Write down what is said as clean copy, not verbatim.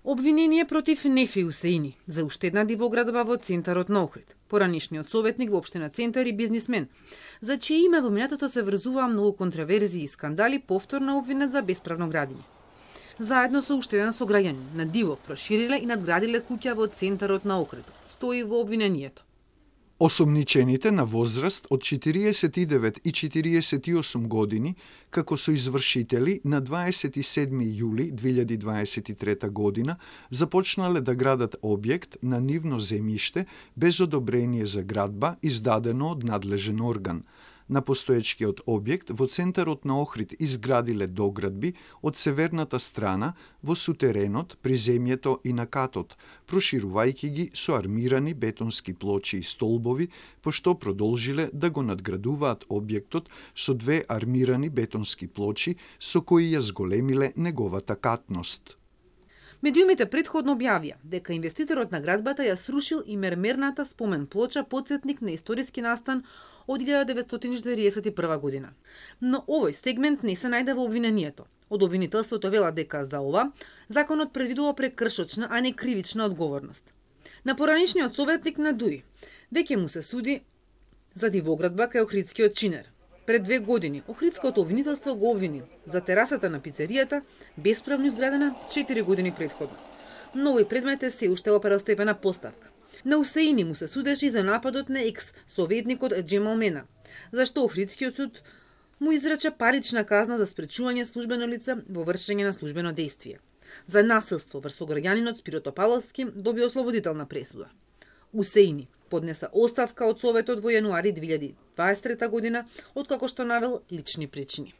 Обвинение против Нефе Усеини за уштедна дивоградба во центарот на Охрид. Поранишниот советник во општина Центар и бизнисмен, за чие име во минатото се врзуваа многу контраверзии и скандали, повторно обвинет за бесправно градење. Заедно со уште еден сограѓанин на диво прошириле и надградиле куќа во центарот на Охрид. Стои во обвинението. Осомничените на возраст од 49 и 48 години, како соизвршители на 27 јули 2023 година, започнале да градат објект на нивно земјиште без одобрение за градба издадено од надлежен орган. На постоечкиот објект во центарот на Охрид изградиле доградби од северната страна во сутеренот, приземјето и на катот, проширувајќи ги со армирани бетонски плочи и столбови, пошто продолжиле да го надградуваат објектот со две армирани бетонски плочи со кои ја зголемиле неговата катност. Медиумите претходно објавија дека инвеститорот на градбата ја срушил и мермерната спомен плоча потсетник на историски настан од 1941 година. Но овој сегмент не се најде во обвинението. Од обвинителството вела дека за ова законот предвидува прекршочна, а не кривична одговорност. На поранишниот советник на ДУИ веќе му се суди за дивоградба кај охридскиот чинер. Пред 2 години охридското обвинителство го обвини за терасата на пицеријата, бесправно изградена 4 години претходно. Но овој предмет е се уште во првостепена поставка. На Усеини му се судеше и за нападот на екс-советникот Джемал Мена, зашто охридскиот суд му изрече парична казна за спречување службено лице во вршење на службено дејствие. За насилство врз сограѓанинот Спиро Топаловски доби ослободителна пресуда. Усеини поднеса оставка од Советот во јануари 2023 година, откако што навел лични причини.